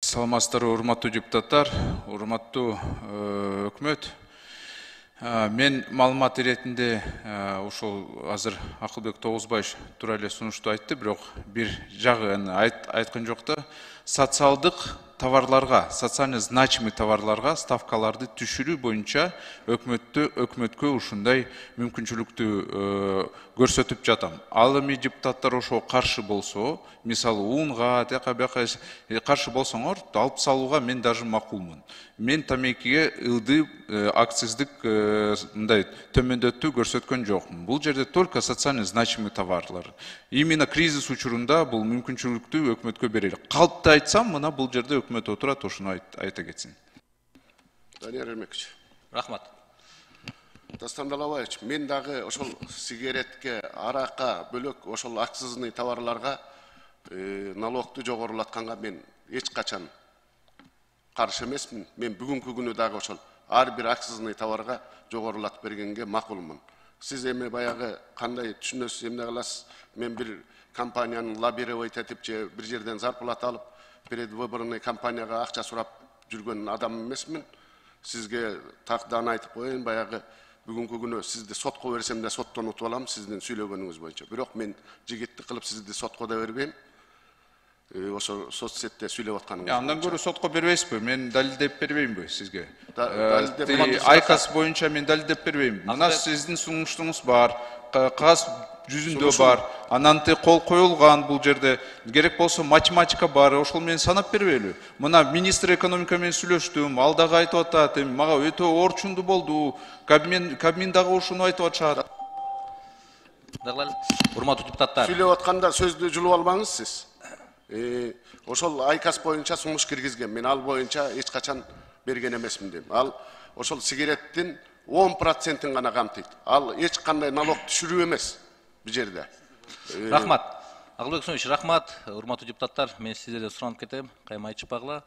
Саламатсыздарбы, урматтуу депутаттар, урматтуу өкмөт. Мен маалымат иретинде ушул азыр Акылбек Тогузбаев туура эле сунушту айтты, бирок бир жагын айткан жок да. Социалдык товарларга, социально значимый товарларга ставкаларды түшүрүү боюнча өкмөткө ушундай мүмкүнчүлүктү көрсөтүп жатам. Ал эми депутаттар ошого каршы болсо, мисалы унга, тияка бияка каршы болсоңор, алып салууга мен даже макулмун. Мен тамекиге ылдый акциздик мындай төмөндөтүү көрсөткөн жокмун. Бул жерде только социально значимый товарлар. Именно кризис учурунда бул мүмкүнчүлүктү өкмөткө берели. Калпты айтсам, мына бул жерде өкмөт отурат, ошону айта кетсин. Данияр Эрмекович. Рахмат. Дастан Далабаевич, мен дагы ошол сигаретке, аракка бөлөк ошол акцизный товарларга налогту жогорулатканга мен эч качан каршы эмесмин. Мен бүгүнкү күнү дагы ошол ар бир акцизный товарга жогорулатып бергенге макулмун. Сиз эми баягы кандай түшүнөсүз, эмне кыласыз? Мен бир компаниянын лоббировать этип же бир жерден зарплата алып, предвыборный компанияга акча сурап жүргөн адам эмесмин. Сизге тактан айтып коеюн, баягы бүгүнкү күнү сизди сотко берсем да соттон утуп алам сиздин сүйлөгөнүңүз боюнча. Бирок мен жигиттик кылып сизди сотко да бербейм. Ошо соцсетте сүйлөп атканыңыз. Андан көрө сотко бербейсизби? Мен далилдеп бербеймби сизге? Айкас боюнча мен далилдеп бербейм. Мына сиздин сунуштуңуз бар, кагаз жүзүндө бар, анан кол коюлган бул жерде. Керек болсо математика бар, ошол менен санап бербейлү. Мына министр экономика менен сүйлөштүм, ал дагы айтып атат, мага өтө орчундуу болду. Кабмин дагы ушуну айтып атышат. Урматтуу депутаттар. Сүйлөп атканда сөздү жулуп албаңыз сиз. Ошол айкас боюнча сунуш киргизген. Мен ал боюнча эч качан берген эмесмин дейм. Ал ошол сигареттин 10%-ин гана камтыйт. Ал эч кандай налог түшүрүү эмес бу жерде. Рахмат. Акылбек Сүйүнович, рахмат. Урматтуу депутаттар, мен сиздерден суранып кетем. Кайма айтышпагыла.